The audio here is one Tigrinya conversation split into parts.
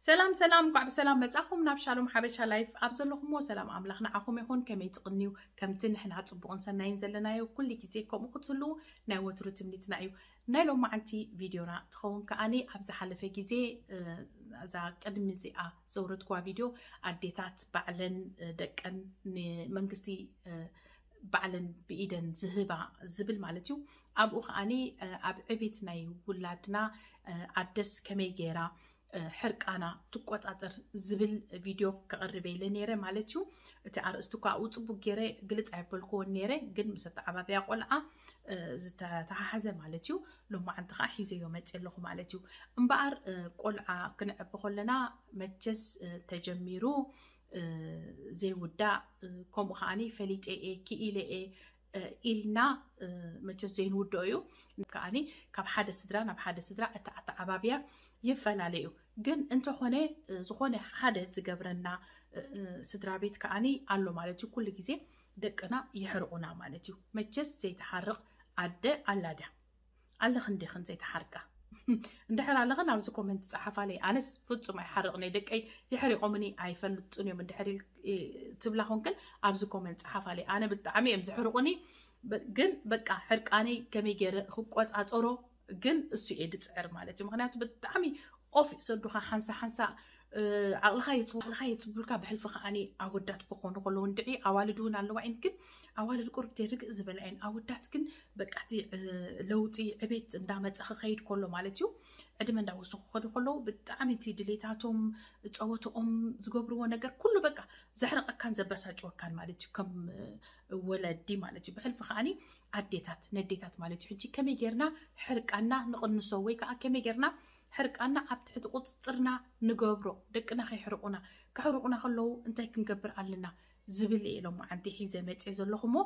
ሰላም ሰላም፣ እንኳዕ ብሰላም መጻኹም ናብ ሻሎም ሓበሻ ላይፍ። ኣብ ዘለኹምዎ ሰላም ኣምላኽ ንዓኹም ይኹን። ከመይ ትቕንዩ? ከምቲ ንሕና ጽቡቕን ሰናይን ዘለናዮ ኩሉ ግዜ ከምኡ ክትህልዉ ናይ ወትሩ ትምኒትና እዩ። ናይ ሎማዓንቲ ቪድዮና ትኸውን ከኣኒ ኣብ ዝሓለፈ ግዜ፣ እ፣ እዛ ቅድሚ እዚኣ ዘውረድክዋ ቪድዮ ኣዴታት ባዕለን፣ እ፣ ደቀን ንመንግስቲ፣ እ፣ ባዕለን ብኢደን ዝህባ ዝብል ማለት እዩ። ኣብኡ ከኣኒ፣ እ፣ ኣብ ዕቤት ናይ ውላድና፣ እ፣ ኣደስ ከመይ ገይራ፣ እ፣ ሕርቃና ትቆጻጸር ዝብል ቪድዮ ከቕርበ ኢለ ነይረ ማለት እዩ። እቲ ኣርእስቲ እኳ ኣብኡ ጽቡቅ ገይረ ግልጽ ኣይበልክዎን ነይረ፣ ግን ምስ ኣተዓባብያ ቆልዓ፣ እ፣ ዝተተሓሓዘ ማለት እዩ። ሎማዓንቲ ከዓ ሒዘዮ መጽእ ኣለኹ ማለት እዩ። እምበኣር፣ እ፣ ቆልዓ ክንዕቢ ከለና መቸስ፣ እ፣ ተጀሚሩ፣ እ፣ ዘይውዳእ፣ እ፣ ከምኡ ከዓኒ ፈሊጠ እየ፣ ክኢለ እየ፣ እ፣ ኢልና፣ እ፣ መቸስ ዘይንውድኦ እዩ። ከዓኒ ካብ ሓደ ስድራ ናብ ሓደ ስድራ እቲ ኣተዓባብያ ይፈላለ እዩ። ግን እንተኾነ፣ እ፣ ዝኾነ ሓደ ዝገብረና፣ እ፣ እ፣ ስድራ ቤት ከዓኒ ኣሎ ማለት እዩ። ኩሉ ግዜ ደቅና ይሕርቑና ማለት እዩ። መቸስ ዘይትሓርቕ ኣደ ኣላ ድያ? ኣለኽን ዲኽን ዘይትሓርቃ? እንድሕር ኣለኽን ኣብዚ ኮመንት ጸሓፋለይ። ኣነስ ፍጹም ኣይሓርቕን እየ። ደቀይ ይሕሪቖምኒ ኣይፈልጡን እዮም። እንድሕር ኢል-፣ እ፣ ትብላ ኾንክን ኣብዚ ኮመንት ጸሓፋለይ። ኣነ ብጣዕሚ እዮም ዝሕርቑኒ። በ-፣ ግን በቃ ሕርቃነይ ከመይ ገይረ ክቆጻጸሮ ግን እሱ እየ ድጽዕር ማለት እዩ። ምኽንያቱ ብጣዕሚ ኦፍ እዩ ሰዱኻ። ሓንሳ ሓንሳ፣ እ፣ ዓቕልኻ የጽ-፣ ዓቕልኻ የጽብሉልካ። ብሕልፊ ከዓኒ ኣወዳት ክኾኑ ከለዉ እንድዒ ኣዋልድ እውን ኣለዋ እየን። ግን ኣዋልድ ቁርብ ርግእ ዝበላ እየን። ኣወዳት ግን በቃ እቲ፣ እ፣ ለውጢ ዕቤት እንዳመጸ ክኸይድ ከሎ ማለት እዩ፣ ዕድመ እንዳወሰኹ ክኸዱ ከለዉ ብጣዕሚ እቲ ድሌታቶም፣ ጸወትኦም፣ ዝገብርዎ ነገር ኩሉ በቃ ዘሕርቐካን ዘበሳጭወካን ማለት እዩ፣ ከም፣ እ፣ ወለዲ ማለት እዩ። ብሕልፊ ከዓኒ ኣዴታት፣ ነዴታት ማለት እዩ። ሕጂ ከመይ ጌርና ሕርቃና ንቕንሶ ወይ ከዓ ከመይ ጌርና ሕርቃና ኣብ ትሕቲ ቁጽጽርና ንገብሮ፣ ደቅና ከይሕርቑና፣ ከሕርቑና ከለዉ እንታይ ክንገብር ኣለና ዝብል እየ ሎማዓንቲ ሒዘ መጽየ ዘለኹ እሞ፣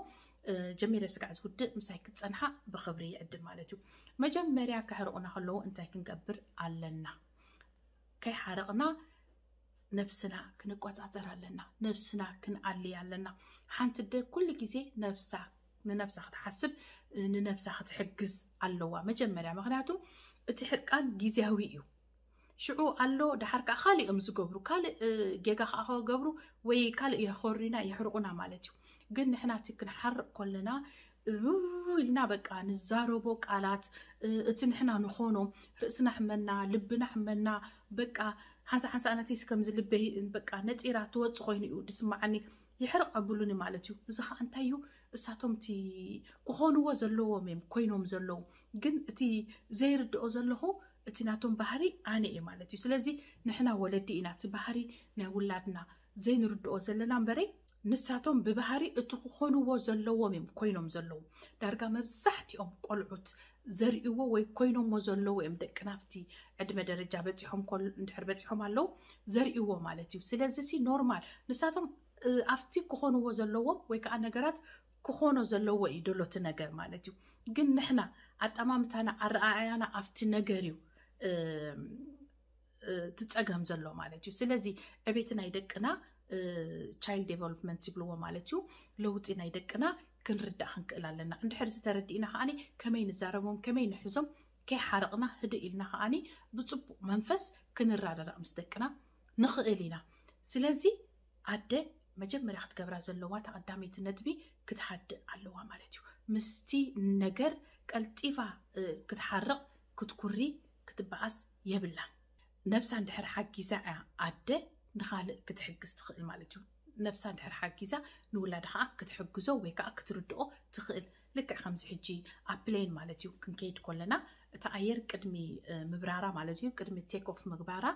እ፣ ጀሚረ ስጋዕ ዝውድእ ምሳይ ክትጸንሓ ብኽብሪ ይዕድም ማለት እዩ። መጀመርያ ከሕርቑና ከለዉ እንታይ ክንገብር ኣለና? ከይሓረቕና ነብስና ክንቆጻጸር ኣለና። ነብስና ክንኣሊ ኣለና። ሓንቲ ኣደ ኩሉ ግዜ ነብሳ፣ ንነብሳ ክትሓስብ፣ ንነብሳ ክትሕግዝ ኣለዋ መጀመርያ። ምኽንያቱ እቲ ሕርቃን ግዝያዊ እዩ። ሽዑ ኣሎ፣ ደሓር ከኣ ካልእ እዮም ዝገብሩ። ካልእ፣ እ፣ ጌጋ ከኣ ክገብሩ ወይ ካልእ የኾርዩና፣ የሕርቑና ማለት እዩ። ግን ንሕና እቲ ክንሓርቕ ከለና፣ እው ኢልና በቃ ንዛረቦ ቃላት፣ እ፣ እቲ ንሕና ንኾኖ፣ ርእስና ሕመና፣ ልብና ሕመና፣ በቃ ሓንሳ ሓንሳ ኣነተይስ ከምዚ ልበይ በቃ ነጢራ ትወጽእ ኮይኑ እዩ ዝስምዓኒ፣ ይሕርቕ ኣብሉኒ ማለት እዩ። እዚ ኸኣ እንታይ እዩ? እሳቶም እቲ ክኾንዎ ዘለዎም እዮም ኮይኖም ዘለዉ። ግን እቲ ዘይርድኦ ዘለኹ፣ እቲ ናቶም ባህሪ ኣነ እየ ማለት እዩ። ስለዚ ንሕና ወለዲ ኢና፣ እቲ ባህሪ ናይ ውላድና ዘይንርድኦ ዘለና እምበረይ፣ ንሳቶም ብባህሪ እቲ ክኾንዎ ዘለዎም እዮም ኮይኖም ዘለዉ። ዳርጋ መብዛሕትኦም ቆልዑት ዘርእይዎ ወይ ኮይኖሞ ዘለዉ እዮም ደቅና ኣብቲ ዕድመ ደረጃ በጺሖም ኮል-፣ እንድሕር በጺሖም ኣለዉ ዘርእይዎ ማለት እዩ። ስለዚ ሲ ኖርማል ንሳቶም፣ እ፣ ኣብቲ ክኾንዎ ዘለዎም ወይ ከዓ ነገራት ክኾኖ ዘለዎ እዩ ደሎ እቲ ነገር ማለት እዩ። ግን ንሕና ኣጠማምታና ኣረኣእያና ኣብቲ ነገር እዩ፣ እ፣ እ፣ ትጸገም ዘሎ ማለት እዩ። ስለዚ ዕቤት ናይ ደቅና፣ እ፣ ቻይልድ ዴቨሎፕመንት ይብልዎ ማለት እዩ። ለውጢ ናይ ደቅና ክንርዳእ ክንክእል ኣለና። እንድሕር ዝተረዲእና ከዓኒ ከመይ ንዛረቦም፣ ከመይ ንሕዞም፣ ከይሓረቕና ህድእ ኢልና ከዓኒ ብጽቡቕ መንፈስ ክንረዳዳእ ምስ ደቅና ንኽእል ኢና። ስለዚ ኣደ መጀመርያ ክትገብራ ዘለዋ እታ ቀዳመይቲ ነጥቢ ክትሃድእ ኣለዋ ማለት እዩ። ምስቲ ነገር ቀልጢፋ፣ እ፣ ክትሓርቕ፣ ክትኩሪ፣ ክትበኣስ የብላን። ነብሳ እንድሕር ሓጊዛ እያ ኣደ ንኻልእ ክትሕግዝ ትኽእል ማለት እዩ። ነብሳ እንድሕር ሓጊዛ ንውላዳ ከዓ ክትሕግዞ ወይ ከዓ ክትርድኦ ትኽእል። ልክዕ ከምዚ ሕጂ ኣብ ፕሌን ማለት እዩ ክንከይድ ከለና፣ እቲ ኣየር ቅድሚ፣ እ፣ ምብራራ ማለት እዩ፣ ቅድሚ ቴክ ኦፍ ምግባራ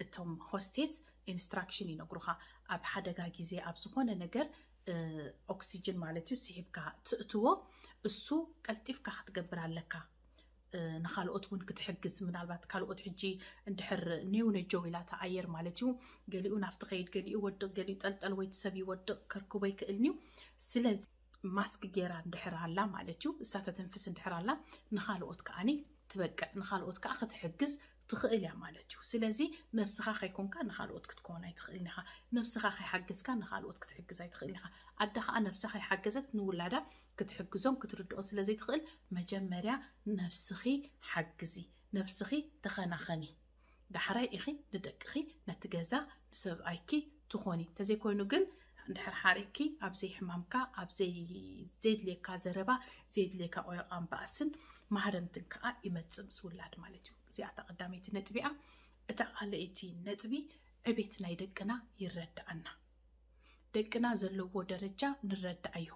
እቶም ሆስቴስ ኢንስትራክሽን ይነግሩኻ። ኣብ ሓደጋ ግዜ ኣብ ዝኾነ ነገር፣ እ፣ ኦክሲጅን ማለት እዩ ስሒብካ ትእትዎ፣ እሱ ቀልጢፍካ ክትገብር ኣለካ። እ፣ ንኻልኦት እውን ክትሕግዝ፣ ምናልባት ካልኦት ሕጂ እንድሕር ኔው ነጀው ኢላ እታ ኣየር ማለት እዩ፣ ገሊኡ ናብቲ ከይድ፣ ገሊኡ ይወድቕ፣ ገሊኡ ጠልጠል ወይ እቲ ሰብ ይወድቕ፣ ከርክቦ ይክእልኒ እዩ። ስለዚ ማስክ ጌራ እንድሕር ኣላ ማለት እዩ፣ እሳ ተተንፍስ እንድሕር ኣላ፣ ንኻልኦት ከዓኒ ትበቅዕ፣ ንኻልኦት ከዓ ክትሕግዝ ትኽእል እያ ማለት እዩ። ስለዚ ነብስኻ ከይኮንካ ንኻልኦት ክትከውን ኣይትኽእልን ኢኻ። ነብስኻ ከይሓገዝካ ንኻልኦት ክትሕግዝ ኣይትኽእልን ኢኻ። ኣደ ኸዓ ነብሳ ከይሓገዘት ንውላዳ ክትሕግዞም ክትርድኦን ስለ ዘይትኽእል፣ መጀመርያ ነብስኺ ሓግዚ፣ ነብስኺ ተኸናኸኒ። ዳሕራይ ኢኺ ንደቅኺ፣ ነቲ ገዛ፣ ንሰብኣይኪ ትኾኒ። እንተዘይኮይኑ ግን፣ እንድሕር ሓሪቕኪ፣ ኣብ ዘይሕማምካ፣ ኣብ ዘይ-፣ ዘየድልየካ ዘረባ፣ ዘየድልየካ ቆይቓን ባእስን ማህረምትን ከኣ ይመጽእ ምስ ውላድ ማለት እዩ። እዚኣ እታ ቀዳመይቲ ነጥቢኣ። እታ ካልኣይቲ ነጥቢ፣ ዕቤት ናይ ደቅና ይረድኣና። ደቅና ዘለዎ ደረጃ ንረድኣዮ።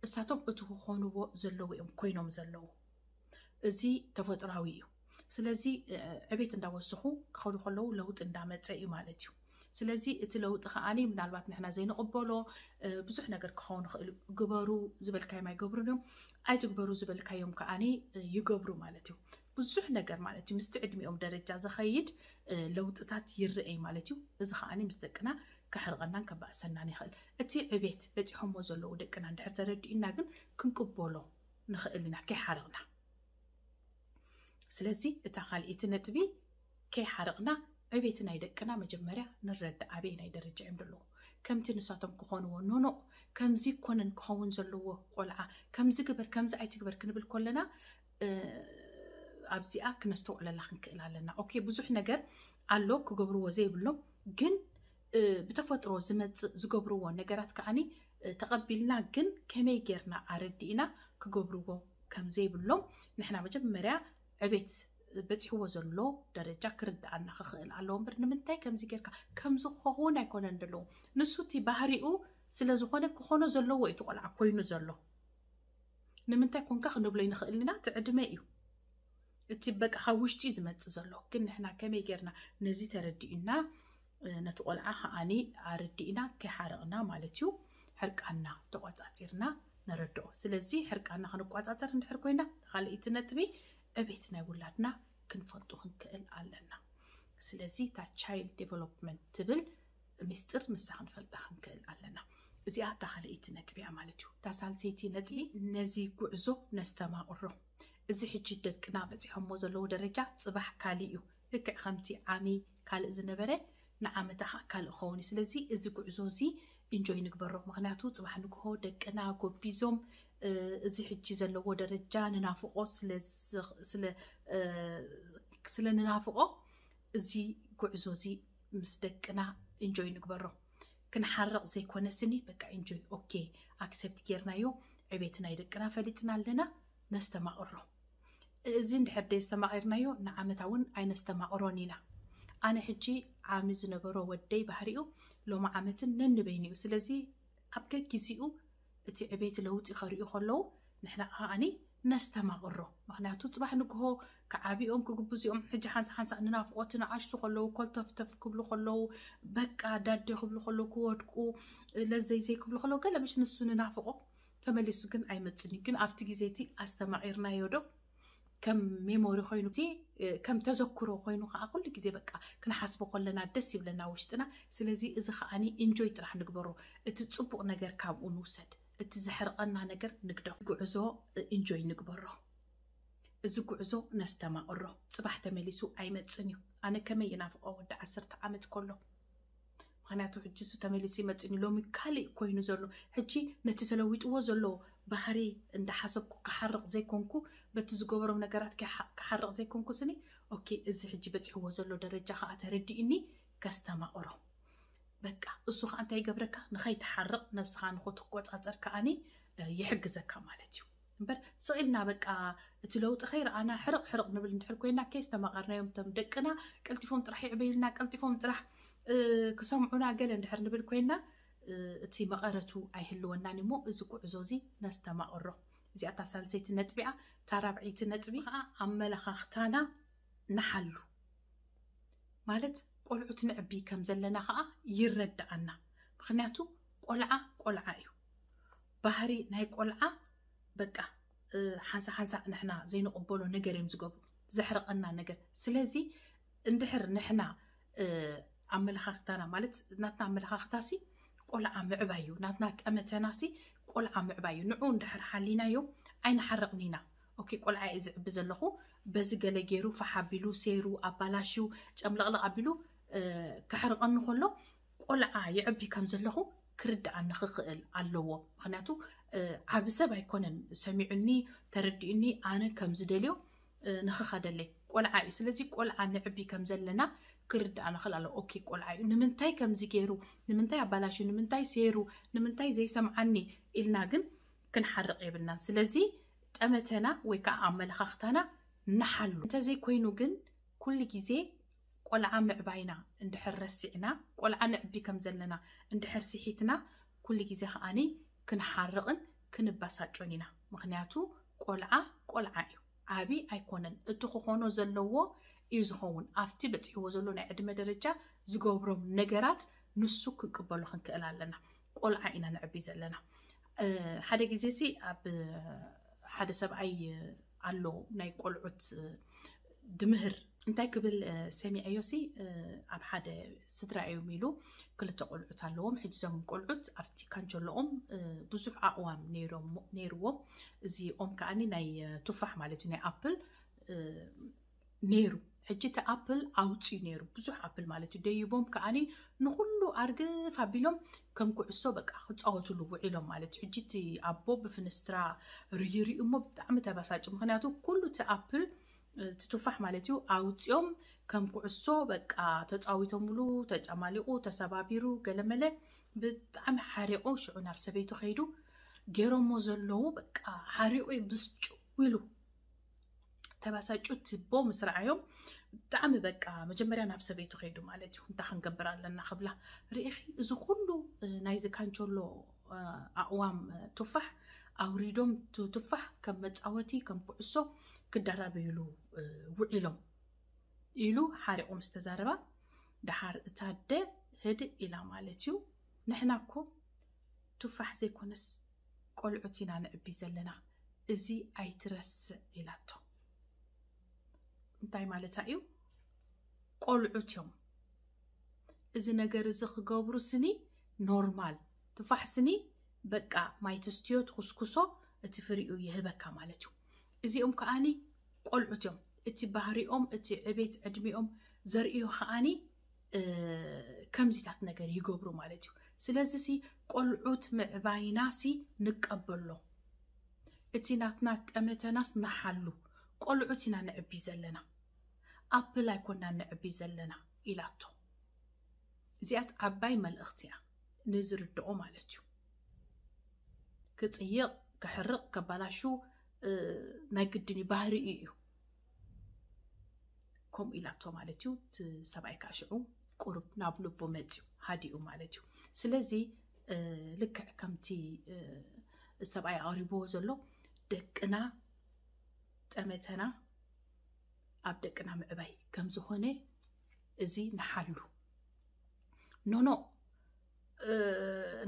እሳቶም እቲ ክኾንዎ ዘለዎ እዮም ኮይኖም ዘለዉ። እዚ ተፈጥራዊ እዩ። ስለዚ፣ እ፣ ዕቤት እንዳወሰኹ ክኸዱ ከለዉ ለውጢ እንዳመጸ እዩ ማለት እዩ። ስለዚ እቲ ለውጢ ከኣኒ ምናልባት ንሕና ዘይንቕበሎ፣ እ፣ ብዙሕ ነገር ክኸውን ይኽእል እዩ። ግበሩ ዝበልካዮም ኣይገብሩን እዮም። ኣይትግበሩ ዝበልካዮም ከኣኒ፣ እ፣ ይገብሩ ማለት እዩ። ብዙሕ ነገር ማለት እዩ። ምስቲ ዕድሚኦም ደረጃ ዝኸይድ፣ እ፣ ለውጥታት ይረኣይ ማለት እዩ። እዚ ከኣኒ ምስ ደቅና ከሕርቐናን ከባእሰናን ይኽእል። እቲ ዕቤት በጺሖሞ ዘለዉ ደቅና እንድሕር ተረዲእና ግን ክንቅበሎ ንኽእል ኢና ከይሓረቕና። ስለዚ እታ ካልኣይቲ ነጥቢ ከይሓረቕና ዕቤት ናይ ደቅና መጀመርያ ንረዳእ ኣበየናይ ደረጃ እዮም ዘለዉ። ከምቲ ንሳቶም ክኾንዎ ኖኖ ከምዚ ኮነን ክኸውን ዘለዎ ቆልዓ ከምዚ ግበር ከምዚ ኣይትግበር ክንብል ከለና እ፣ ኣብዚኣ ክነስተውዕለላ ክንክእል ኣለና። ኦኬ፣ ብዙሕ ነገር ኣሎ ክገብርዎ ዘይብሎም፣ ግን እ፣ ብተፈጥሮ ዝመጽእ ዝገብርዎ ነገራት ከኣኒ እ፣ ተቐቢልና ግን ከመይ ጌርና ኣረዲእና ክገብርዎ ከም ዘይብሎም ንሕና መጀመርያ ዕቤት በጺሕዎ ዘሎ ደረጃ ክርድኣና ክኽእል ኣለዎ እምበር ንምንታይ ከምዚ ጌርካ ከምዚ ክኸውን ኣይኮነን ዘለዎ። ንሱ እቲ ባህሪኡ ስለ ዝኾነ ክኾኖ ዘለዎ እዩ እቲ ቆልዓ ኮይኑ ዘሎ። ንምንታይ ኮንካ ክንብሎ ይንኽእል ኢና፣ እቲ ዕድመ እዩ። እቲ በቃ ካብ ውሽጢ እዩ ዝመጽእ ዘሎ። ግን ንሕና ከመይ ጌርና ነዚ ተረዲእና፣ እ፣ ነቲ ቆልዓ ከኣኒ ኣረዲእና ከይሓረቕና ማለት እዩ፣ ሕርቃና ተቆጻጺርና ነረድኦ። ስለዚ ሕርቃና ክንቆጻጸር እንድሕር ኮይና፣ ካልኣይቲ ነጥቢ ዕቤት ናይ ውላድና ክንፈልጡ ክንክእል ኣለና። ስለዚ እታ ቻይልድ ዴቨሎፕመንት ትብል ሚስጥር ንሳ ክንፈልጣ ክንክእል ኣለና። እዚኣ እታ ካልኣይቲ ነጥቢ እያ ማለት እዩ። እታ ሳልሰይቲ ነጥቢ ነዚ ጉዕዞ ነስተማቕሮ። እዚ ሕጂ ደቅና በጺሖሞ ዘለዉ ደረጃ ጽባሕ ካልእ እዩ። ልክዕ ከምቲ ዓሚ ካልእ ዝነበረ ንዓመታ ኸኣ ካልእ ክኸውን እዩ። ስለዚ እዚ ጉዕዞ እዚ ኢንጆይ ንግበሮ። ምኽንያቱ ጽባሕ ንግሆ ደቅና ጎቢዞም፣ እ፣ እዚ ሕጂ ዘለዎ ደረጃ ንናፍቖ ስለ ዝ-፣ ስለ፣ እ፣ ስለ ንናፍቖ እዚ ጉዕዞ እዚ ምስ ደቅና ኢንጆይ ንግበሮ። ክንሓርቕ ዘይኮነ ስኒ በቃ ኢንጆይ፣ ኦኬ፣ ኣክሰፕት ጌርናዮ፣ ዕቤት ናይ ደቅና ፈሊጥና ኣለና፣ ነስተማቕሮ። እዚ እንድሕር ደየስተማቒርናዮ ንዓመታ እውን ኣይነስተማቕሮን ኢና። ኣነ ሕጂ ዓሚ ዝነበሮ ወደይ ባህሪኡ ሎሚ ዓመትን ነንበይኑ እዩ። ስለዚ ኣብ ገጊዚኡ እቲ ዕቤት ለውጢ ከርእዩ ከለዉ ንሕና ከኣኒ ነስተማቕሮ። ምኽንያቱ ጽባሕ ንግሆ ክዓብዮም ክግብዝኦም ሕጂ ሓንሳ ሓንሳ ንናፍቖት ንኣሽቱ ከለዉ ኮልተፍተፍ ክብሉ ከለዉ በቃ ዳዴ ክብሉ ከለዉ ክወድቁ ለዘይዘይ ክብሉ ከለዉ ገለ ምሽ ንሱ ንናፍቖ ተመሊሱ ግን ኣይመጽን እዩ። ግን ኣብቲ ግዜ እቲ ኣስተማቒርናዮ ዶ ከም ሜሞሪ ኮይኑ እቲ፣ እ፣ ከም ተዘክሮ ኮይኑ ከዓ ኩሉ ግዜ በቃ ክንሓስቦ ከለና ደስ ይብለና ውሽጥና። ስለዚ እዚ ከዓኒ ኢንጆይ ጥራሕ ንግበሮ። እቲ ጽቡቕ ነገር ካብኡ ንውሰድ። እቲ ዘሕርቐና ነገር ንግደፎ። ጉዕዞ፣ እ፣ ኢንጆይ ንግበሮ። እዚ ጉዕዞ ነስተማቕሮ። ጽባሕ ተመሊሱ ኣይመጽን እዩ። ኣነ ከመይ ይናፍቖ ወዲ ዓሰርተ ዓመት ከሎ። ምኽንያቱ ሕጂ እሱ ተመሊሱ ይመጽእኒ። ሎሚ ካልእ ኮይኑ ዘሎ። ሕጂ ነቲ ተለዊጥዎ ዘሎ ባህሪ እንዳሓሰብኩ ክሓርቕ ዘይኮንኩ፣ በቲ ዝገበሮም ነገራት ክሓ-፣ ክሓርቕ ዘይኮንኩ ስኒ፣ ኦኬ፣ እዚ ሕጂ በጺሕዎ ዘሎ ደረጃ ከኣ ተረዲእኒ ከስተማቕሮ። በቃ፣ እሱ ከኣ እንታይ ይገብረካ? ንኸይትሓርቕ፣ ነብስኻ ንኽትቆጻጸር ከኣኒ፣ እ፣ ይሕግዘካ ማለት እዩ። እምበር ስቕ ኢልና በቃ እቲ ለውጢ ከይረኣና ሕርቕ ሕርቕ ንብል እንድሕር ኮይና፣ ከይስተማቐርናዮም እቶም ደቅና ቀልጢፎም ጥራሕ ይዕበዩልና፣ ቀልጢፎም ጥራሕ፣ እ፣ ክሰምዑና ገለ እንድሕር ንብል ኮይና፣ እ፣ እቲ መቐረቱ ኣይህልወናን እሞ፣ እዚ ጉዕዞ እዚ ነስተማቕሮ። እዚኣ እታ ሳልሰይቲ ነጥቢኣ። እታ ራብዐይቲ ነጥቢ ከኣ ኣመለኻኽታና ንሓሉ። ማለት ቆልዑት ንዕቢ ከም ዘለና ከኣ ይረድኣና። ምኽንያቱ ቆልዓ ቆልዓ እዩ። ባህሪ ናይ ቆልዓ በቃ፣ እ፣ ሓንሳ ሓንሳ ንሕና ዘይንቕበሎ ነገር እዮም ዝገብሩ። ዘሕርቐና ነገር። ስለዚ እንድሕር ንሕና፣ እ፣ ኣመለኻኽታና ማለት ናትና ኣመለኻኽታሲ ቆልዓ ምዕባይ እዩ። ናትና ጠመተናሲ ቆልዓ ምዕባይ እዩ። ንዑ እንድሕር ሓሊናዮ ኣይንሓርቕን ኢና። ኦኬ፣ ቆልዓ እየ ዝዕቢ ዘለኹ፣ በዚ ገለ ገይሩ ፋሕ ኣቢሉ፣ ሴሩ፣ ኣባላሽዩ፣ ጨምለቕለቕ ኣቢሉ፣ እ፣ ከሕርቐኒ ከሎ፣ ቆልዓ ይዕቢ ከም ዘለኹ ክርድኣኒ ክኽእል ኣለዎ። ምኽንያቱ፣ እ፣ ዓቢ ሰብ ኣይኮነን ሰሚዑኒ፣ ተረዲኡኒ፣ ኣነ ከም ዝደልዮ፣ እ፣ ንኽኸደለይ። ቆልዓ እዩ። ስለዚ ቆልዓ ንዕቢ ከም ዘለና ክርዳእና ክእል ኣሎ። ኦኬ፣ ቆልዓ እዩ፣ ንምንታይ ከምዚ ገይሩ፣ ንምንታይ ኣባላሹ፣ ንምንታይ ሴሩ፣ ንምንታይ ዘይሰምዓኒ ኢልና ግን ክንሓርቕ የብልናን። ስለዚ ጠመተና ወይ ከዓ ኣመለኻኽታና ንሓሉ። እንተዘይኮይኑ ግን ኩሉ ግዜ ቆልዓ ምዕባይና እንድሕር ረሲዕና፣ ቆልዓ ንዕቢ ከም ዘለና እንድሕር ስሒትና፣ ኩሉ ግዜ ከዓኒ ክንሓርቕን ክንበሳጮን ኢና። ምኽንያቱ ቆልዓ ቆልዓ እዩ፣ ዓቢ ኣይኮነን። እቲ ክኾኖ ዘለዎ እዩ ዝኸውን። ኣብቲ በፂሕዎ ዘሎ ናይ ዕድመ ደረጃ ዝገብሮም ነገራት ንሱ ክንቅበሎ ክንክእል ኣለና። ቆልዓ ኢና ንዕቢ ዘለና። ሓደ ግዜ ሲ ኣብ ሓደ ሰብኣይ ኣሎ ናይ ቆልዑት ድምህር እንታይ ክብል ሰሚዐዮ ሲ፣ ኣብ ሓደ ስድራ እዮም ኢሉ ክልተ ቆልዑት ኣለዎም። ሕጂ እዞም ቆልዑት ኣብቲ ካንቸሎኦም ብዙሕ ኣእዋም ነይሮም ነይርዎም። እዚ ኦም ከዓኒ ናይ ቱፋሕ ማለት እዩ፣ ናይ ኣፕል ነይሩ። ሕጂ እቲ ኣፕል ኣውፅዩ ነይሩ፣ ብዙሕ ኣፕል ማለት እዩ። ደይቦም ከዓኒ ንኩሉ ኣርግፍ ኣቢሎም ከም ኩዕሶ በቃ ክፃወትሉ ውዒሎም ማለት እዩ። ሕጂ እቲ ኣቦ ብፍንስትራ ርይሪኡ እሞ ብጣዕሚ ተበሳጭ። ምክንያቱ ኩሉ እቲ ኣፕል፣ እቲ ቱፋሕ ማለት እዩ፣ ኣውፅኦም ከም ኩዕሶ በቃ ተፃዊቶምሉ፣ ተጨማሊቑ፣ ተሰባቢሩ፣ ገለመለ። ብጣዕሚ ሓሪቑ ሽዑ ናብ ሰበይቱ ከይዱ፣ ገይሮሞ ዘለዉ በቃ ሓሪቑ እዩ ብስጭው ኢሉ። ተባሳጩ ትቦ ምስ ረኣዮም ብጣዕሚ በቃ መጀመርያ ናብ ሰበይቱ ከይዱ ማለት እዩ። እንታይ ክንገብር ኣለና ክብላ፣ ርኢኺ እዚ ኩሉ ናይዚ ካንቸሎ ኣእዋም ቱፋሕ ኣውሪዶም ቱ- ቱፋሕ ከም መፃወቲ ከም ኩዕሶ ክደራበይሉ ውዒሎም ኢሉ ሓሪቑ ምስ ተዛረባ፣ ደሓር እታ ኣደ ህድእ ኢላ ማለት እዩ። ንሕና እኮ ቱፋሕ ዘይኮነስ ቆልዑት ኢና ንዕቢ ዘለና፣ እዚ ኣይትረስዕ ኢላቶ። እንታይ ማለታ እዩ? ቆልዑት እዮም። እዚ ነገር እዚ ክገብሩ ስኒ ኖርማል። ቱፋሕ ስኒ በቃ ማይ ተስትዮ ትኹስኩሶ፣ እቲ ፍሪኡ ይህበካ ማለት እዩ። እዚኦም ከዓኒ ቆልዑት እዮም። እቲ ባህሪኦም፣ እቲ ዕቤት ዕድሚኦም ዘርእዮ ከዓኒ ከምዚታት ነገር ይገብሩ ማለት እዩ። ስለዚ ሲ ቆልዑት ምዕባይና ሲ ንቀበሎ፣ እቲ ናትና ጠመተናስ ንሓሉ። ቆልዑት ኢና ንዕቢ ዘለና፣ ኣፕል ኣይኮና ንዕቢ ዘለና ኢላቶ። እዚኣስ ዓባይ መልእኽቲ እያ ንዝርድኦ ማለት እዩ። ክፅይቕ፣ ክሕርቕ፣ ከባላሹ ናይ ግድን እዩ፣ ባህሪኡ እዩ። ከምኡ ኢላቶ ማለት እዩ። እቲ ሰብኣይ ከዓ ሽዑ ቁሩብ ናብ ልቡ መፅዩ፣ ሃዲኡ ማለት እዩ። ስለዚ ልክዕ ከምቲ ሰብኣይ ኣቕሪብዎ ዘሎ፣ ደቅና ጠመተና ኣብ ደቅና ምዕባይ ከም ዝኾነ እዚ ንሓሉ። ኖኖ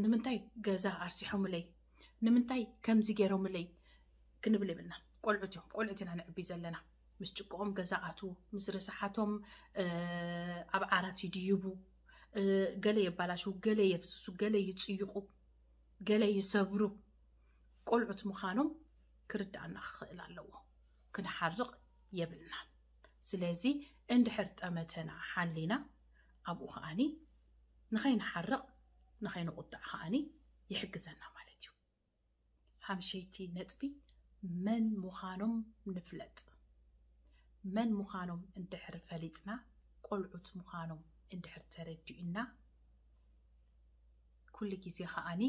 ንምንታይ ገዛ ኣርሲሖምለይ፣ ንምንታይ ከምዚ ገይሮምለይ ክንብል የብልና። ቆልዑት እዮም፣ ቆልዑት ኢና ንዕቢ ዘለና። ምስ ጭቅኦም ገዛ ኣትዉ፣ ምስ ርስሓቶም ኣብ ዓራት ይድይቡ፣ ገለ የባላሽዉ፣ ገለ የፍስሱ፣ ገለ ይፅይቑ፣ ገለ ይሰብሩ። ቆልዑት ምዃኖም ክርዳእና ክኽእል ኣለዎ። ክንሓርቕ የብልናን። ስለዚ እንድሕር ጠመተና ሓሊና፣ ኣብኡ ከዓኒ ንኸይንሓርቕ ንኸይንቁጣዕ ከዓኒ ይሕግዘና ማለት እዩ። ሓምሸይቲ ነጥቢ፣ መን ምዃኖም ንፍለጥ። መን ምዃኖም እንድሕር ፈሊጥና፣ ቆልዑት ምዃኖም እንድሕር ተረዲኡና፣ ኩሉ ግዜ ከዓኒ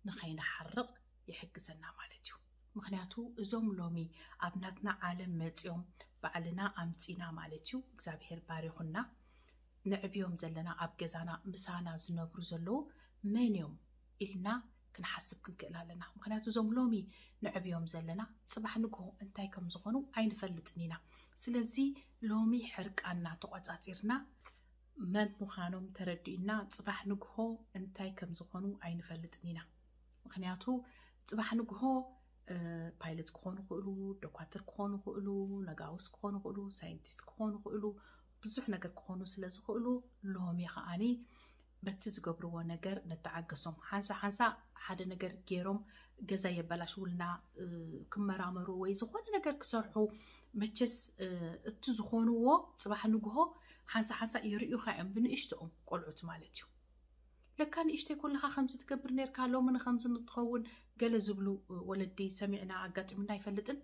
ንኸይንሓርቕ ይሕግዘና ማለት እዩ። ምክንያቱ እዞም ሎሚ ኣብ ናትና ዓለም መፂኦም፣ ባዕልና ኣምፂና ማለት እዩ፣ እግዚኣብሄር ባሪኹና፣ ንዕብዮም ዘለና፣ ኣብ ገዛና ምሳና ዝነብሩ ዘለዉ መን እዮም ኢልና ክንሓስብ ክንክእል ኣለና። ምክንያቱ እዞም ሎሚ ንዕብዮም ዘለና ፅባሕ ንግሆ እንታይ ከም ዝኾኑ ኣይንፈልጥን ኢና። ስለዚ ሎሚ ሕርቃና ተቆፃፂርና መን ምዃኖም ተረዲእና ፅባሕ ንግሆ እንታይ ከም ዝኾኑ ኣይንፈልጥን ኢና። ምክንያቱ ፅባሕ ንግሆ ፓይለት ክኾኑ ይኽእሉ፣ ዶኳትር ክኾኑ ይኽእሉ፣ ነጋውስ ክኾኑ ይኽእሉ፣ ሳይንቲስት ክኾኑ ይኽእሉ፣ ብዙሕ ነገር ክኾኑ ስለ ዝኽእሉ ሎሚ ከዓኒ በቲ ዝገብርዎ ነገር ንተዓገሶም። ሓንሳ ሓንሳ ሓደ ነገር ገይሮም ገዛ የበላሽውልና ክመራመሩ ወይ ዝኾነ ነገር ክሰርሑ፣ መቸስ እቲ ዝኾንዎ ፅባሕ ንግሆ ሓንሳ ሓንሳ የርእዩኻ እዮም፣ ብንእሽትኦም ቆልዑት ማለት እዩ። ለካ ንእሽተይ ኮለኻ ከምዚ ትገብር ነርካ፣ ሎሚ ንከምዚ ንትኸውን ገለ ዝብሉ ወለዲ ሰሚዕና ኣጋጢሙና ኣይፈልጥን።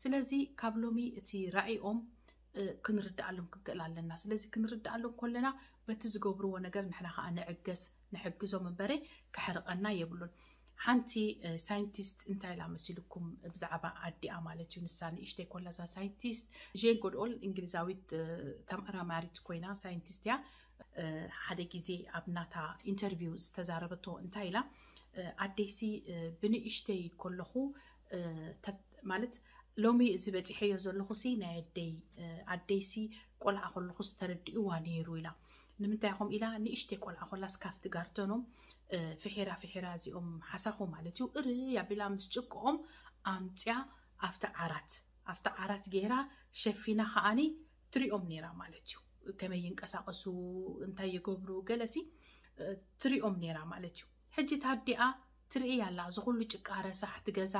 ስለዚ ካብ ሎሚ እቲ ራእይኦም ክንርድኣሎም ክንክእል ኣለና። ስለዚ ክንርድኣሎም ከለና በቲ ዝገብርዎ ነገር ንሕና ከዓ ንዕገስ፣ ንሕግዞም እምበረ ክሕርቐና የብሉን። ሓንቲ ሳይንቲስት እንታይ ኢላ መሲልኩም? ብዛዕባ ኣዲኣ ማለት እዩ። ንሳ ንእሽተይ ኮላ እዛ ሳይንቲስት ጄን ጎድኦል እንግሊዛዊት ተመራማሪት ኮይና ሳይንቲስት እያ። ሓደ ግዜ ኣብ ናታ ኢንተርቪው ዝተዛረበቶ እንታይ ኢላ፣ ኣደይሲ ብንእሽተይ ከለኹ ማለት ሎሚ እዚ በፂሐዮ ዘለኹ ሲ ናይ ኣደይ ኣደይሲ ቆልዓ ከለኹ ዝተረድእዋ ነይሩ ኢላ። ንምንታይ ኹም ኢላ ንእሽተይ ቆልዓ ኮላስ ካፍቲ ጋርተኖም ፍሒራ ፍሒራ እዚኦም ሓሳኹ ማለት እዩ እርይ ኣቢላ ምስ ጭቅኦም ኣምፅያ ኣብቲ ዓራት ኣብቲ ዓራት ገይራ ሸፊና ከዓኒ ትሪኦም ነይራ ማለት እዩ። ከመይ ይንቀሳቀሱ እንታይ ይገብሩ ገለሲ ትሪኦም ነይራ ማለት እዩ። ሕጂ ታዲኣ ትርኢ ኣላ እዚ ኩሉ ጭቃ ረሳሕ ትገዛ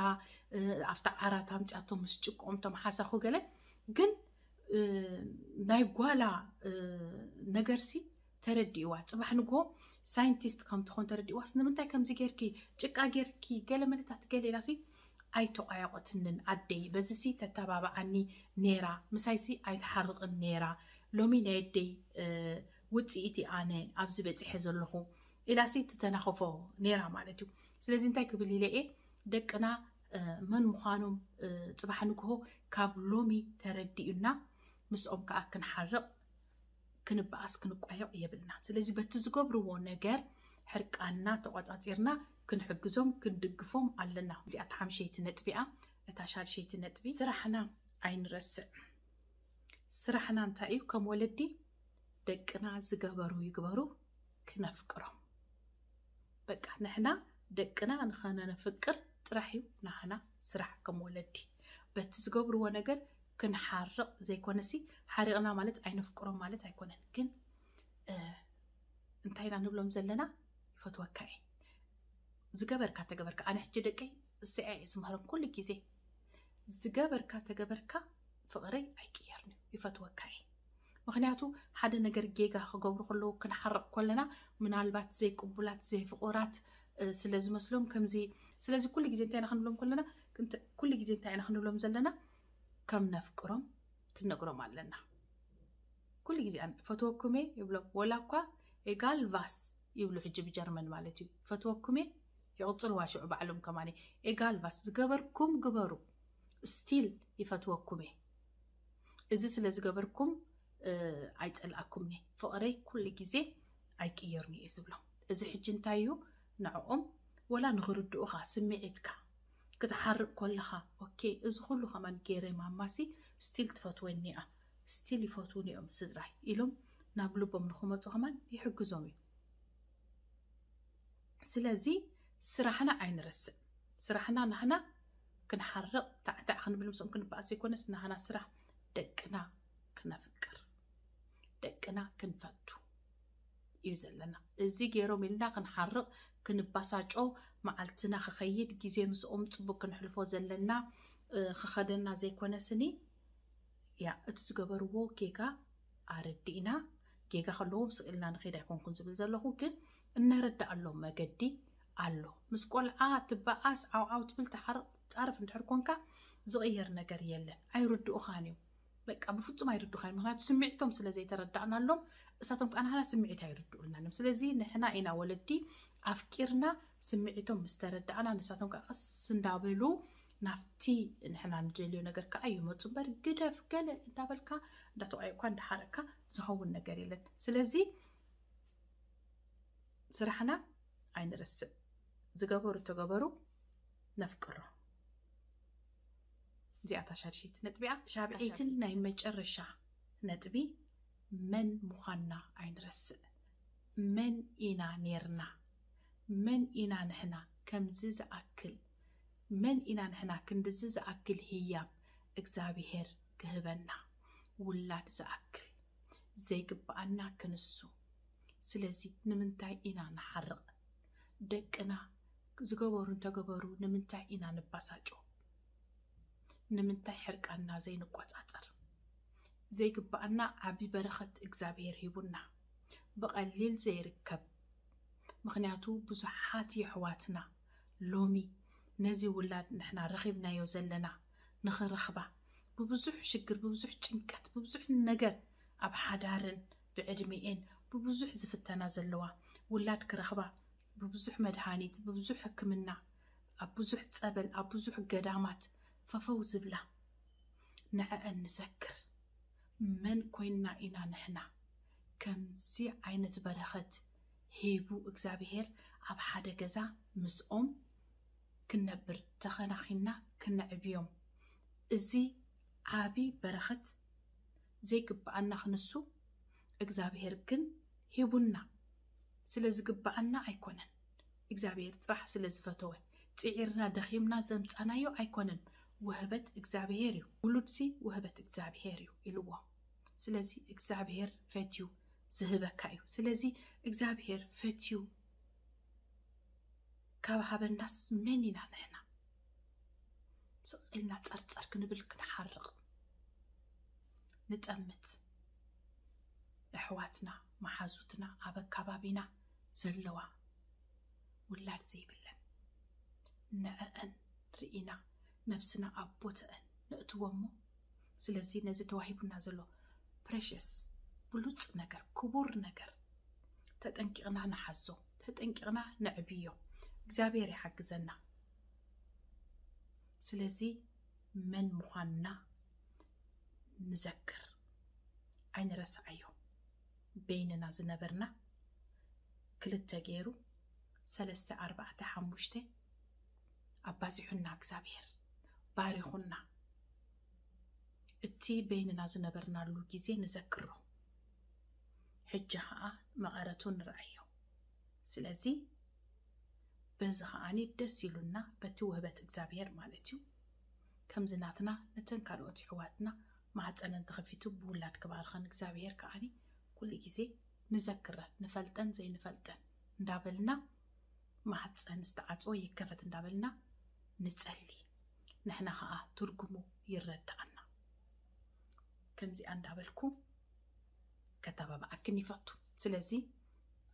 ኣብታ ዓራት ኣምፅያቶ ምስ ጭቆም ቶም ሓሳኹ ገለ ግን ናይ ጓላ ነገርሲ ተረዲእዋ። ፅባሕ ንግሆ ሳይንቲስት ከም ትኾን ተረዲእዋስ ንምንታይ ከምዚ ጌርኪ ጭቃ ጌርኪ ገለ መለታት ገለ ኢላሲ ኣይተቋየቆትንን ኣደይ በዚሲ ተተባብዓኒ ነይራ ምሳይሲ ኣይትሓርቕን ነይራ። ሎሚ ናይ ኣደይ ውፅኢት ኣነ ኣብዚ በፂሐ ዘለኹ ኢላሲ ትተናኸፎ ነይራ ማለት እዩ። ስለዚ እንታይ ክብል ኢለ እየ ደቅና መን ምዃኖም ፅባሕ ንግሆ ካብ ሎሚ ተረዲኡና ምስኦም ከዓ ክንሓርቕ ክንበኣስ ክንቋየቕ የብልና። ስለዚ በቲ ዝገብርዎ ነገር ሕርቃንና ተቆፃፂርና ክንሕግዞም ክንድግፎም ኣለና። እዚኣ እታ ሓምሸይቲ ነጥቢኣ። እታ ሻድሸይቲ ነጥቢ ስራሕና ኣይንረስዕ። ስራሕና እንታይ እዩ? ከም ወለዲ ደቅና ዝገበሩ ይግበሩ ክነፍቅሮም። በቃ ንሕና ደቅና ንኸነነፍቅር ጥራሕ እዩ ናህና ስራሕ ከም ወለዲ። በቲ ዝገብርዎ ነገር ክንሓርቕ ዘይኮነሲ ሓሪቕና ማለት ኣይነፍቅሮም ማለት ኣይኮነን። ግን እንታይ ኢና ንብሎም ዘለና? ይፈትወካ እየ ዝገበርካ ተገበርካ ኣነ ሕጂ ደቀይ እሰያ እየ ዝምህሮም ኩሉ ግዜ ዝገበርካ ተገበርካ ፍቕረይ ኣይቅየርን እዩ ይፈትወካ እየ። ምክንያቱ ሓደ ነገር ጌጋ ክገብሩ ከለዉ ክንሓርቕ ከለና ምናልባት ዘይቅቡላት ዘይፍቑራት ስለ ዝመስሎም ከምዚ ስለዚ ኩሉ ግዜ እንታይ ኢና ክንብሎም ከለና ኩሉ ግዜ እንታይ ኢና ክንብሎም ዘለና ከም ነፍቅሮም ክንነግሮም ኣለና። ኩሉ ግዜ ፈትወኩሜ ይብሎም ወላ እኳ ኤጋል ቫስ ይብሉ ሕጂ ብጀርመን ማለት እዩ ፈትወኩሜ ይቕፅልዋ ሽዑ ባዕሎም ከማኒ ኤጋል ቫስ ዝገበርኩም ግበሩ ስቲል ይፈትወኩም እየ እዚ ስለ ዝገበርኩም ኣይፀልኣኩምኒ ፍቕረይ ኩሉ ግዜ ኣይቅየርኒ እየ ዝብሎም እዚ ሕጂ እንታይ እዩ ንዕኦም ወላ ንኽርድኡኻ ስምዒትካ ክትሓርቕ ኮለኻ ኦኬ እዚ ኩሉ ከማን ገይረ ማማሲ ስቲል ትፈትወኒ እያ ስቲል ይፈትውኒ እዮም ስድራይ ኢሎም ናብ ልቦም ንኽመፁ ከማን ይሕግዞም እዩ ስለዚ ስራሕና ኣይንረስዕ ስራሕና ናህና ክንሓርቕ ታዕታዕ ክንብል ምስኦም ክንበኣስ ዘይኮነስ ናህና ስራሕ ደቅና ክነፍቅር ደቅና ክንፈቱ እዩ ዘለና እዚ ገይሮም ኢልና ክንሓርቕ ክንባሳጮ መዓልትና ክኸይድ ግዜ ምስኦም ፅቡቅ ክንሕልፎ ዘለና ክኸደና ዘይኮነስኒ ያ እቲ ዝገበርዎ ጌጋ ኣረዲእና ጌጋ ከለዎም ስቕ ኢልና ንኸይድ ኣይኮንኩን ዝብል ዘለኹ ግን እነረዳኣሎም መገዲ ኣሎ ምስ ቆልዓ ትበኣስ ዓውዓው ትብል ትሓርቕ ትፃረፍ እንድሕር ኮንካ ዝቕየር ነገር የለን ኣይርድኡኻን እዮም በቃ ብፍፁም ኣይርድኡኻን እዮም ምክንያቱ ስምዒቶም ስለ ዘይተረዳእናሎም እሳቶም ከዓ ንሕና ስምዒት ኣይርድኡልናን እዮም ስለዚ ንሕና ኢና ወለዲ ኣፍቂርና ስምዒቶም ምስ ተረዳእና ንሳቶም ከዓ ቀስ እንዳበሉ ናብቲ ንሕና ንደልዮ ነገር ከዓ ይመፁ እምበር ግደፍ ገለ እንዳበልካ እንዳተቋየኳ እንዳሓረቅካ ዝኸውን ነገር የለን ስለዚ ስራሕና ኣይንረስዕ ዝገበሩ ተገበሩ ነፍቅሮ እዚኣታ ሻድሸይቲ ነጥቢያ ሻብዐይትን ናይ መጨረሻ ነጥቢ መን ምዃንና ኣይንረስዕ መን ኢና ኔርና መን ኢና ንሕና ከምዚ ዝኣክል መን ኢና ንሕና ክንድዚ ዝኣክል ህያብ እግዚኣብሄር ክህበና ውላድ ዝኣክል ዘይግብኣና ክንሱ ስለዚ ንምንታይ ኢና ንሓርቕ ደቅና ዝገበሩ እንተገበሩ ንምንታይ ኢና ንባሳጮ ንምንታይ ሕርቃንና ዘይንቆጻጸር ዘይግብኣና ዓቢ በረኸት እግዚኣብሄር ሂቡና ብቐሊል ዘይርከብ ምኽንያቱ ብዙሓት የሕዋትና ሎሚ ነዚ ውላድ ንሕና ረኺብናዮ ዘለና ንኽረኽባ ብብዙሕ ሽግር፣ ብብዙሕ ጭንቀት፣ ብብዙሕ ነገር ኣብ ሓዳርን ብዕድሜኤን ብብዙሕ ዝፍተና ዘለዋ፣ ውላድ ክረኽባ ብብዙሕ መድሃኒት፣ ብብዙሕ ሕክምና፣ ኣብ ብዙሕ ጸበል፣ ኣብ ብዙሕ ገዳማት ፈፈው ዝብላ፣ ንዐአን ንዘክር። መን ኮይንና ኢና ንሕና ከምዚ ዓይነት በረኸት ሂቡ እግዚኣብሔር ኣብ ሓደ ገዛ ምስኦም ክንነብር ተኸናኺንና ክነዕብዮም? እዚ ዓቢ በረኸት ዘይግብኣና ክንሱ እግዚኣብሔር ግን ሂቡና። ስለ ዝግብኣና ኣይኮነን፣ እግዚኣብሔር ጥራሕ ስለ ዝፈተወ፣ ጽዒርና ደኺምና ዘምጻናዮ ኣይኮነን። ውህበት እግዚኣብሔር እዩ። ውሉድሲ ውህበት እግዚኣብሔር እዩ ኢልዎ። ስለዚ እግዚኣብሔር ፈትዩ ዝህበካ እዩ። ስለዚ እግዚኣብሔር ፈትዩ ካብ ሃበናስ መን ኢና ንሕና? ስቕ ኢልና ጸርጸር ክንብል፣ ክንሓርቕ፣ ንጠምት። ኣሕዋትና፣ መሓዙትና፣ ኣብ ኣካባቢና ዘለዋ ውላድ ዘይብለን ንዐአን ርኢና ነብስና ኣብ ቦተአን ነእትዎ እሞ፣ ስለዚ ነዚ ተዋሂቡና ዘሎ ፕሬሽስ፣ ብሉጽ ነገር፣ ክቡር ነገር ተጠንቂቕና ንሓዞ፣ ተጠንቂቕና ነዕብዮ። እግዚኣብሔር ይሓግዘና። ስለዚ መን ምዃንና ንዘክር፣ ኣይንረስዓዮ። በይንና ዝነበርና ክልተ ገይሩ፣ ሰለስተ፣ ኣርባዕተ፣ ሓሙሽተ ኣባዚሑና እግዚኣብሔር፣ ባሪኹና። እቲ በይንና ዝነበርናሉ ግዜ ንዘክሮ። ሕጂ ኸኣ መቐረቱ ንርኣዮ። ስለዚ በዚ ኸኣኒ ደስ ኢሉና በቲ ውህበት እግዚኣብሔር ማለት እዩ። ከምዚ ናትና ነተን ካልኦት ኣሕዋትና ማህፀነን ተኸፊቱ ብውላድ ክባርኸን እግዚኣብሔር ከኣኒ ኩሉ ግዜ ንዘክረን፣ ንፈልጠን ዘይንፈልጠን እንዳበልና ማህፀን ዝተዓፅወ ይከፈት እንዳበልና ንጸሊ። ንሕና ኸኣ ትርጉሙ ይረድኣና። ከምዚኣ እንዳበልኩ ከተባብዓክን ይፈቱ። ስለዚ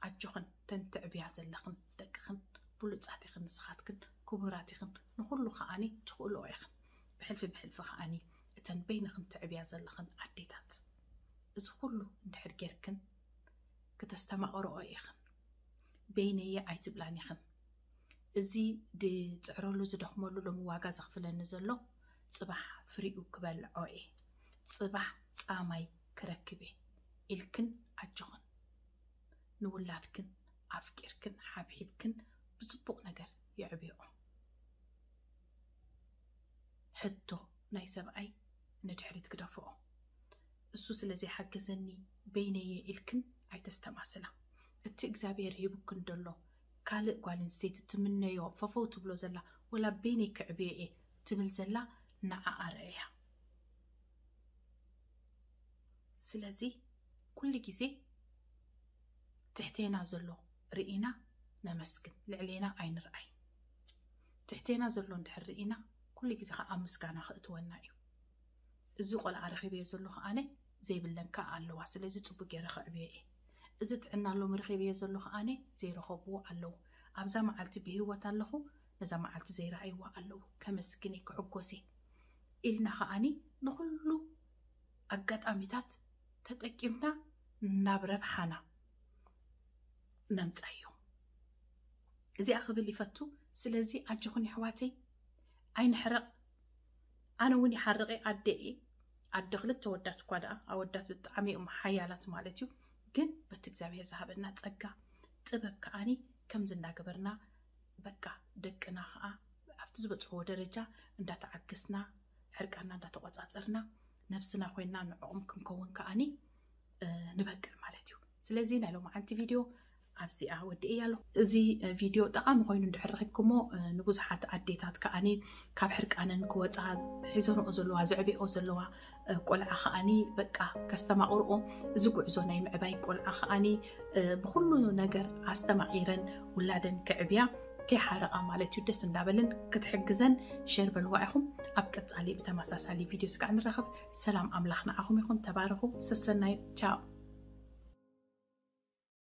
ኣጆኽን፣ ተን ትዕብያ ዘለኽን ደቅኽን ብሉጻት ኢኽን፣ ንስኻትክን ክቡራት ኢኽን፣ ንኹሉ ከኣኒ ትኽእልኦ ኢኽን። ብሕልፊ ብሕልፊ ከኣኒ እተን በይንኽን ትዕብያ ዘለኽን ኣዴታት፣ እዚ ኩሉ እንድሕር ጌርክን ክተስተማቕርኦ ኢኽን። በይነየ ኣይትብላን ኢኽን። እዚ ድጽዕረሉ ዝደኽመሉ ሎሚ ዋጋ ዘኽፍለኒ ዘሎ ጽባሕ ፍሪኡ ክበልዖ እየ፣ ጽባሕ ጻማይ ክረክብ እየ ኢልክን ኣጆኽን። ንውላድክን ኣፍቂርክን ሓብሒብክን ብጽቡቕ ነገር የዕብዮኦም። ሕቶ ናይ ሰብኣይ ንድሕሪት ግደፍኦ። እሱ ስለ ዘይሓገዘኒ በይነየ ኢልክን ኣይተስተማስላ። እቲ እግዚኣብሔር ሂቡክን ደሎ ካልእ ጓል ኣንስተይቲ ትምነዮ፣ ፈፈው ትብሎ ዘላ፣ ወላ በይነይ ክዕብዮ እየ ትብል ዘላ ንዓኣ ርኣያ። ስለዚ ኩሉ ግዜ ትሕቴና ዘሎ ርኢና ነመስግን፣ ልዕሌና ኣይንርኣይ። ትሕቴና ዘሎ እንድሕር ርኢና ኩሉ ግዜ ከዓ ኣብ ምስጋና ክእትወና እዩ። እዚ ቆልዓ ረኺበዮ ዘሎ ከኣነ ዘይብለን ከዓ ኣለዋ፣ ስለዚ ጽቡቅ ገይረ ከዕብዮ እየ። እዚ ጥዕና ሎሚ ረኺበዮ ዘሎ ከኣነ ዘይረኸብዎ ኣለዉ። ኣብዛ መዓልቲ ብህይወት ኣለኹ፣ ነዛ መዓልቲ ዘይረኣይዋ ኣለዉ፣ ከመስግን እየ፣ ክሕጎስ እየ ኢልና ከኣኒ ንኹሉ ኣጋጣሚታት ተጠቂምና ናብ ረብሓና ነምጻዮ። እዚኣ ክብል ይፈቱ። ስለዚ ኣጆኹን የሕዋተይ ኣይንሕረቕ። ኣነ እውን ይሓርቕ እየ፣ ኣደ እየ። ኣደ ክልተ ወዳት እኳ ደኣ፣ ኣወዳት ብጣዕሚ እዮም ሓያላት ማለት እዩ። ግን በቲ እግዚኣብሔር ዝሃበና ጸጋ ጥበብ ከኣኒ ከምዚ እንዳገበርና በቃ ደቅና ኸዓ ኣብቲ ዝበጽሕዎ ደረጃ እንዳተዓገስና፣ ሕርቃና እንዳተቆጻጸርና፣ ነብስና ኮይንና ንዕኦም ክንከውን ከኣኒ፣ እ፣ ንበቅዕ ማለት እዩ። ስለዚ ናይ ሎማዓንቲ ቪድዮ ኣብዚኣ ወዲኤያ ኣለኹ። እዚ፣ እ፣ ቪድዮ ጠቓሚ ኮይኑ እንድሕር ረኺብኩሞ፣ እ፣ ንብዙሓት ኣዴታት ከኣኒ ካብ ሕርቃነን ክወጻ ሒዘንኦ ዘለዋ፣ ዘዕብኦ ዘለዋ፣ እ፣ ቆልዓ ከኣኒ በቃ ከስተማቕርኦ፣ እዚ ጉዕዞ ናይ ምዕባይ ቆልዓ ከኣኒ፣ እ፣ ብኹሉ ነገር ኣስተማቒረን ውላደን ክዕብያ ከይሓረቓ ማለት እዩ። ደስ እንዳበለን ክትሕግዘን ሼር በልዋ ኢኹም። ኣብ ቀጻሊ ብተመሳሳሊ ቪድዮ ስጋዕ ንራኸብ። ሰላም ኣምላኽ ንዓኹም ይኹን። ተባረኹ። ሰሰናዩ። ቻው።